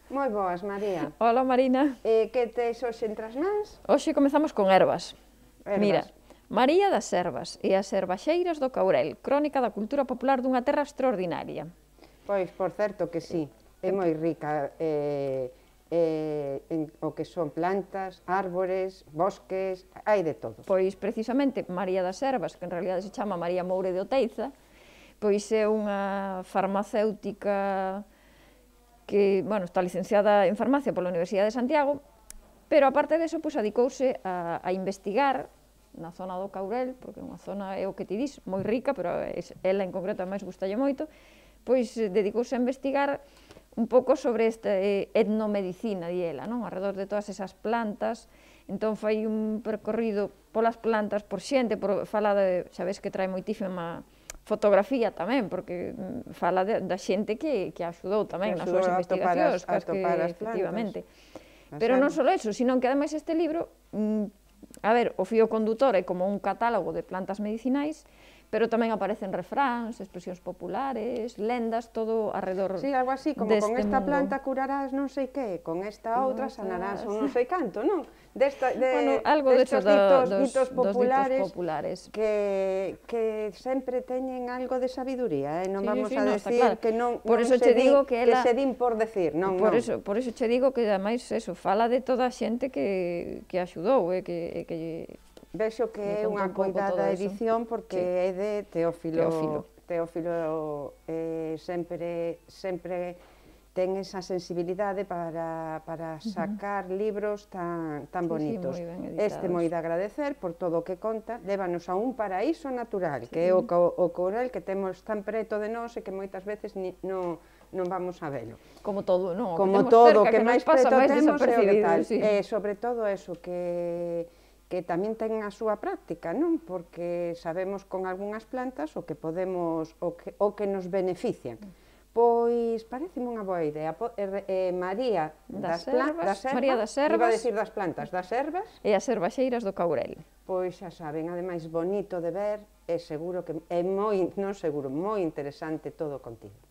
Moi boas, María. Hola, Marina. Que tes hoxe entre as mans? Hoxe comezamos con ervas. Ervas. Mira, María das Servas e as Servaxeiras do Caurel, crónica da cultura popular dunha terra extraordinaria. Pois, por certo que sí, é moi rica en o que son plantas, árbores, bosques, hai de todo. Pois, precisamente, María das Servas, que en realidad se chama María Moure de Oteiza, pois é unha farmacéutica que, bueno, está licenciada en farmacia pola Universidade de Santiago, pero aparte deso, pois, adicouse a investigar na zona do Caurel, porque é unha zona, é o que ti dis, moi rica, pero ela en concreto máis gustalle moito, pois dedicouse a investigar un pouco sobre esta etnomedicina, di ela, non? Arredor de todas esas plantas. Entón fai un percorrido polas plantas, por xente, fala de, sabes que trae moitísima fotografía tamén, porque fala da xente que axudou tamén nas súas investigacións, que efectivamente. Pero non só eso, sino que ademais este libro, a ver, o fío condutor é como un catálogo de plantas medicinais, pero tamén aparecen refráns, expresións populares, lendas, todo arredor deste mundo. Sí, algo así, como con esta planta curarás non sei que, con esta outra sanarás non sei canto, non? Bueno, algo destes ditos populares que sempre teñen algo de sabiduría, non vamos a decir que non se din por decir, non. Por iso che digo que, ademais, fala de toda a xente que axudou, que vexo que é unha coidada edición porque é de Teófilo. Teófilo sempre ten esa sensibilidade para sacar libros tan bonitos. Este moi de agradecer por todo o que conta, lévanos a un paraíso natural, que é o Caurel que temos tan preto de nós e que moitas veces non vamos a velo. Como todo, non? Como todo, o que máis preto temos é o que tal. Sobre todo eso, que tamén ten a súa práctica, non? Porque sabemos con algunhas plantas o que nos benefician. Pois pareceme unha boa idea. María das Servas, iba a decir das plantas, das ervas e as Servaxeiras do Caurel. Pois xa saben, ademais bonito de ver e seguro que é moi, non seguro, moi interesante todo o contido.